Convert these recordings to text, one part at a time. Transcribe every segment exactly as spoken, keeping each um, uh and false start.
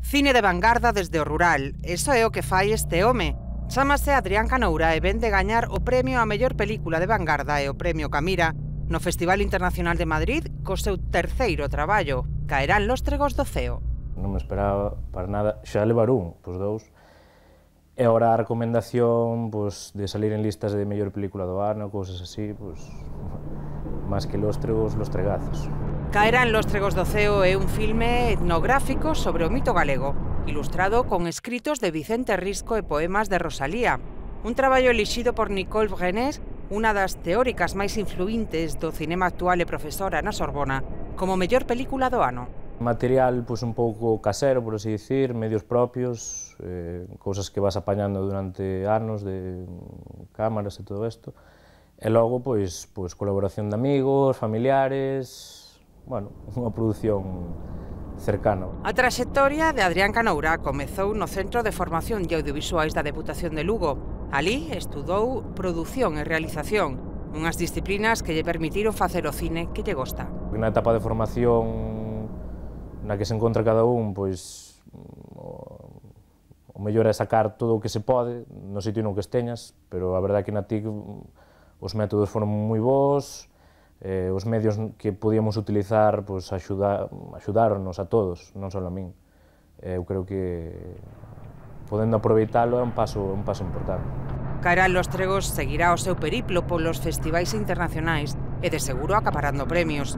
Cine de vanguarda desde o rural, iso é o que fai este home. Chámase Adrián Canoura e ven de gañar o premio a mellor película de vanguarda e o premio Camira no Festival Internacional de Madrid co seu terceiro traballo, Caerán lóstregos do ceo. Non me esperaba para nada xa levar un, pois dous. E agora a recomendación pois, de salir en listas de mellor película do ano, cousas así, pois, máis que lóstregos, lostregazos. Caerán lóstregos do ceo é un filme etnográfico sobre o mito galego, ilustrado con escritos de Vicente Risco e poemas de Rosalía. Un traballo elixido por Nicole Brenes, unha das teóricas máis influíntes do cinema actual e profesora na Sorbona, como mellor película do ano. Material pois, un pouco casero, por así dicir, medios propios, eh, cousas que vas apañando durante anos de cámaras e todo isto. E logo, pois, pois colaboración de amigos, familiares... Bueno, unha produción cercana. A traxectoria de Adrián Canoura comezou no Centro de Formación de Audiovisuais da Deputación de Lugo. Alí estudou produción e realización, unhas disciplinas que lle permitiron facer o cine que lle gosta. Na etapa de formación na que se encontra cada un, pois o mellor é sacar todo o que se pode no sitio no que esteñas, pero a verdade é que na T I C os métodos foron moi bons, Eh, os medios que podíamos utilizar pues, axuda, axudáronos a todos, non só a min. Eh, eu creo que podendo aproveitalo é un paso, un paso importante. Caerán lóstregos seguirá o seu periplo polos festivais internacionais e de seguro acaparando premios.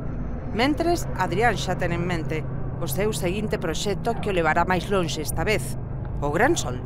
Mentres, Adrián xa ten en mente o seu seguinte proxecto que o levará máis lonxe esta vez, o Gran Sol.